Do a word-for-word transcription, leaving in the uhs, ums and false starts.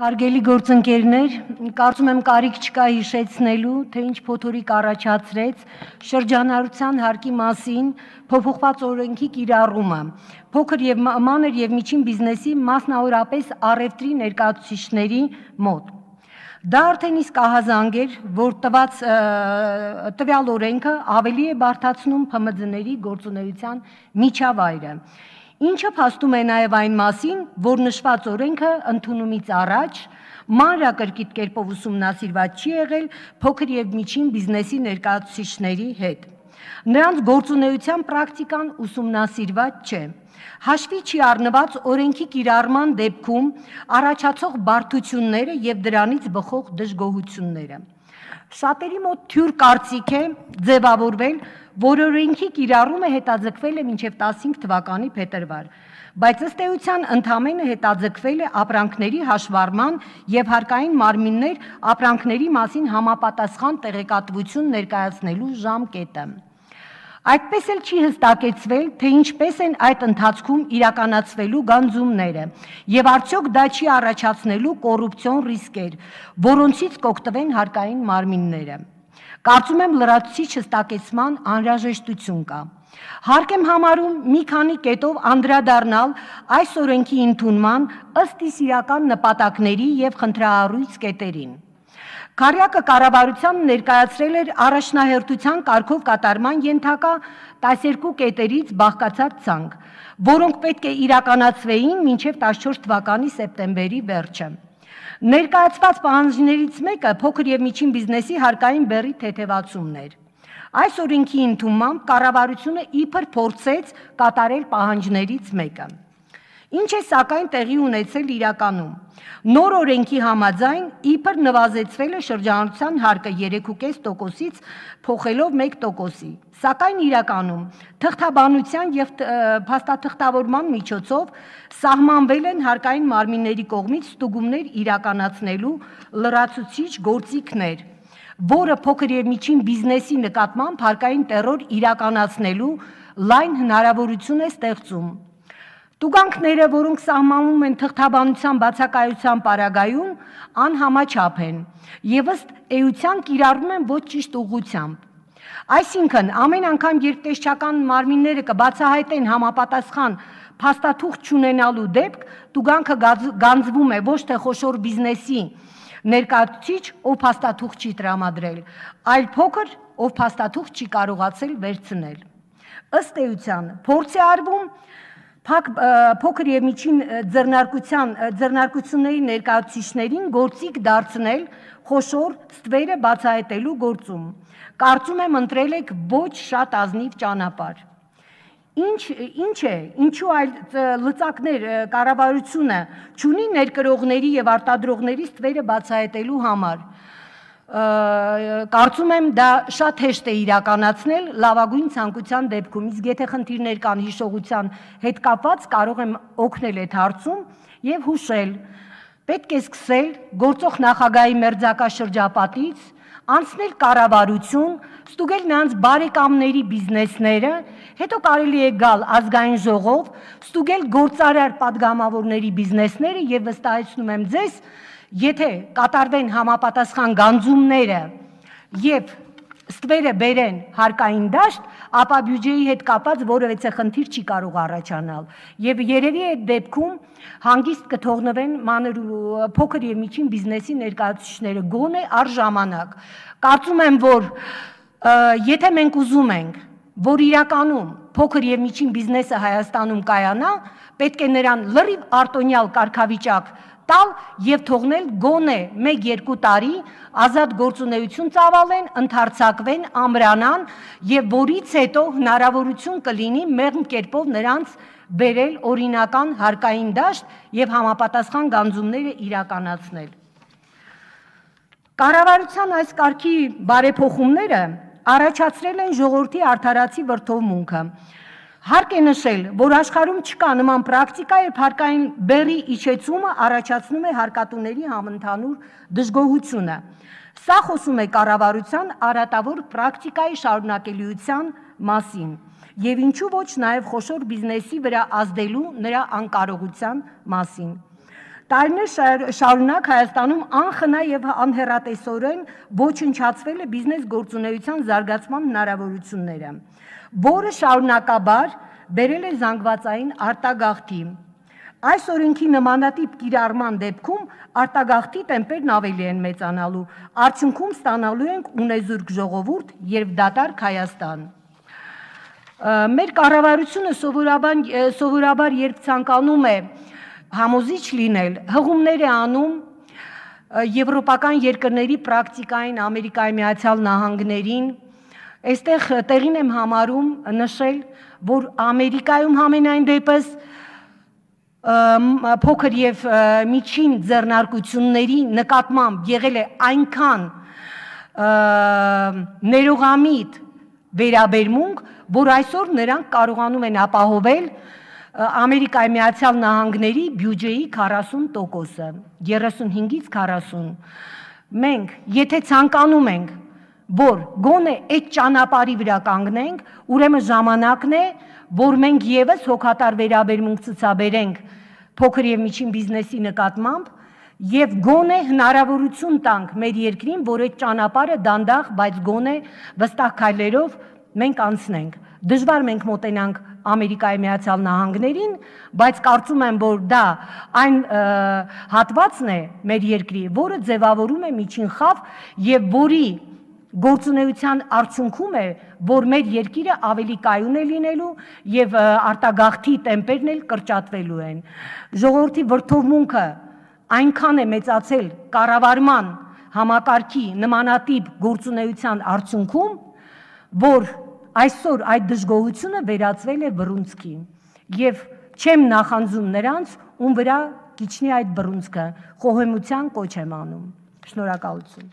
Հարգելի գործընկերներ, կարծում եմ կարիք չկա հիշեցնելու, թե ինչ փոթորիկ առաջացրեց շրջանառության հարկի մասին փոփոխված օրենքի կիրառումը, փոքր եւ մանր եւ միջին բիզնեսի, մասնավորապես առևտրի ներկայացուցիչների մոտ։ Դա արդեն իսկ ահազանգ էր, որ տված տվյալ օրենքը ավելի է բարդացնում Փ M D-ների գործունեության միջավայրը, ինչը փաստում է նաև այն մասին, որ նշված օրենքը ընդունումից առաջ մանրակրկիտ կերպով ուսումնասիրված չի եղել փոքր եւ միջին բիզնեսի ներկայացուցիչների հետ։ Նրանց գործունեության պրակտիկան ուսումնասիրված չէ։ Հաշվի չի առնված օրենքի կիրառման դեպքում առաջացող բարդությունները եւ դրանից բխող դժգոհությունները։ Շատերի մոտ թյուր կարծիք է ձևավորվել, որ օրենքի կիրառումը հետաձգվել է մինչև տասնհինգ թվականի փետրվար, բայց ըստ էության ընդամենը հետաձգվել է ապրանքների հաշվառման եւ հարկային մարմիններ ապրանքների մասին համապատասխան տեղեկատվություն ներկայացնելու ժամկետը։ Այդպես էլ չի հստակեցվել, թե ինչպես են այդ ընթացքում իրականացվելու գանձումները եւ արդյոք դա չի առաջացնելու կոռուպցիոն ռիսկեր, որոնցից կօգտվեն հարկային մարմինները։ Կարծում եմ լրացուցիչ հստակեցման անհրաժեշտություն կա։ Հարկ եմ համարում մի քանի կետով անդրադառնալ այս օրենքի ընդունման ըստ իս իրական նպատակների եւ խնդրահարույց կետերին։ Քարյակը կառավարությանը ներկայացրել էր առաջնահերթության կարգով կատարման ենթակա տասներկու կետերից բաղկացած ցանկ, որոնք պետք է իրականացվեին մինչև տասնչորս թվականի սեպտեմբերի վերջը։ Ներկայացված պահանջներից մեկը փոքր եւ միջին բիզնեսի հարկային բեռի թեթևացումն էր։ Այս օրենքի ընդունմամբ կառավարությունը իբր փորձեց կատարել պահանջներից մեկը։ Ինչ է սակայն տեղի ունեցել իրականում։ Նոր օրենքի համաձայն իբր նվազեցվել է շրջանառության հարկը երեք կoma պենս տոկոսից փոխելով մեկ տոկոսի, սակայն իրականում թղթաբանության եւ փաստաթղթավորման միջոցով սահմանվել են հարկային մարմինների կողմից ստուգումներ իրականացնելու լրացուցիչ գործիքներ, որը փոքր եւ միջին բիզնեսի նկատմամբ հարկային տերոր իրականացնելու լայն հնարավորություն է ստեղծում։ Տուգանքները, որոնք սահմանվում են թղթաբանության բացակայության պարագայում, անհամաչափ են եւ ըստ էության կիրառվում են ոչ ճիշտ ուղղությամբ։ Այսինքն, ամեն անգամ, երբ տեսչական մարմինները կբացահայտեն համապատասխան փաստաթուղթ չունենալու դեպք, տուգանքը գանձվում է ոչ թե խոշոր բիզնեսի ներկայացուցիչ, ով փաստաթուղթ չի տրամադրել, այլ փոքր, ով փաստաթուղթ չի կարողացել վերցնել։ Ըստ էության, փորձ է արվում փոքր եւ միջին ձեռնարկությունների ներկայացուցիչներին գործիք դարձնել խոշոր ստվերը բացահայտելու գործում։ Կարծում եմ ընտրել եք ոչ շատ ազնիվ ճանապարհ։ Ինչ ինչ է, ինչու այլ լծակներ կառավարությունը չունի ներկրողների եւ արտադրողների ստվերը բացահայտելու համար։ Կարծում եմ դա շատ հեշտ է իրականացնել լավագույն ցանկության դեպքում, իսկ եթե խնդիրներ կան հիշողության հետ կապված, կարող եմ օգնել այդ հարցում եւ հուշել։ Պետք է սկսել գործող նախագահի մերձակա շրջապատից, անցնել կառավարություն, ստուգել նրանց բարեկամների բիզնեսները, հետո կարելի է գալ ազգային ժողով, ստուգել գործարար падգամավորների բիզնեսները եւ վստահեցնում եմ ձեզ, եթե կատարվեն համապատասխան գանձումները եւ ստվերը բերեն հարկային դաշտ, ապա բյուջեի հետ կապված որևէ խնդիր չի կարող առաջանալ եւ երևի այդ դեպքում հանգիստ կթողնվեն մանր ու փոքր եւ միջին բիզնեսի ներկայացուցիչները գոնե առժամանակ։ Կարծում եմ, որ եթե մենք ուզում ենք, որ իրականում փոքր եւ միջին բիզնեսը Հայաստանում կայանա, պետք է նրան լրիվ արտոնյալ կարգավիճակ տալ եւ թողնել գոնե մեկ-երկու տարի ազատ գործունեություն ծավալեն, ընդարձակվեն, ամրանան եւ որից հետո հնարավորություն կլինի մեղմ կերպով նրանց բերել օրինական հարկային դաշտ եւ համապատասխան գանձումները իրականացնել։ Կառավարության այս կարգի բարեփոխումները առաջացրել են ժողովրդի արդարացի վրդովմունքը։ Հարկ է նշել, որ աշխարհում չկա նման պրակտիկա, երբ հարկային բեռի իջեցումը առաջացնում է հարկատուների համընդհանուր դժգոհությունը։ Սա խոսում է կառավարության արատավոր պրակտիկայի շարունակելիության մասին եւ ինչու ոչ նաեւ խոշոր բիզնեսի վրա ազդելու նրա անկարողության մասին։ Տարիներ շարունակ Հայաստանում անխնա եւ անհեռատեսորեն ոչնչացվել է բիզնես գործունեության զարգացման հնարավորությունները, որը շարունակաբար բերել է զանգվածային արտագաղթի։ Այս օրենքի նմանատիպ կիրառման դեպքում արտագաղթի տեմպերն ավելի են մեծանալու, արդյունքում ստանալու ենք ունեզուրկ ժողովուրդ եւ դատարկ Հայաստան։ Մեր կառավարությունը սովորաբար, սովորաբար երբ ցանկանում է համոզիչ լինել, հղումներ է անում եվրոպական երկրների պրակտիկային, Ամերիկայի Միացյալ Նահանգներին, այստեղ տեղին եմ համարում նշել, որ Ամերիկայում համենայն դեպս փոքր եւ միջին ձեռնարկությունների նկատմամբ եղել է այնքան ներողամիտ վերաբերմունք, որ այսօր նրանք կարողանում են ապահովել Ամերիկայի Միացյալ Նահանգների բյուջեի քառասուն տոկոսը, երեսունհինգից քառասուն։ Մենք, եթե ցանկանում ենք, որ գոնե այդ ճանապարհի վրա կանգնենք, ուրեմն ժամանակն է, որ մենք եւս հոգատար վերաբերմունք ցուցաբերենք փոքր եւ միջին բիզնեսի նկատմամբ եւ գոնե հնարավորություն տանք մեր երկրին, որ այդ ճանապարհը դանդաղ, բայց գոնե վստահ քայլերով մենք անցնենք։ Դժվար մենք մոտենանք Ամերիկայի Միացյալ Նահանգներին, բայց կարծում եմ, որ դա այն հատվածն է մեր երկրի, որը ձևավորում է միջին խավ եւ որի գործունեության արդյունքում է, որ մեր երկիրը ավելի կայուն է լինելու եւ արտագաղթի տեմպերն էլ կրճատվելու են։ Ժողովրդի վրդովմունքը այնքան է մեծացել կառավարման համակարգի նմանատիպ գործունեության արդյունքում, որ այսօր այդ դժգոհությունը վերածվել է բռունցքի եւ չեմ նախանձում նրանց, ում վրա կիջնի այդ բռունցքը, խոհեմության կոչ եմ անում։ Շնորհակալություն։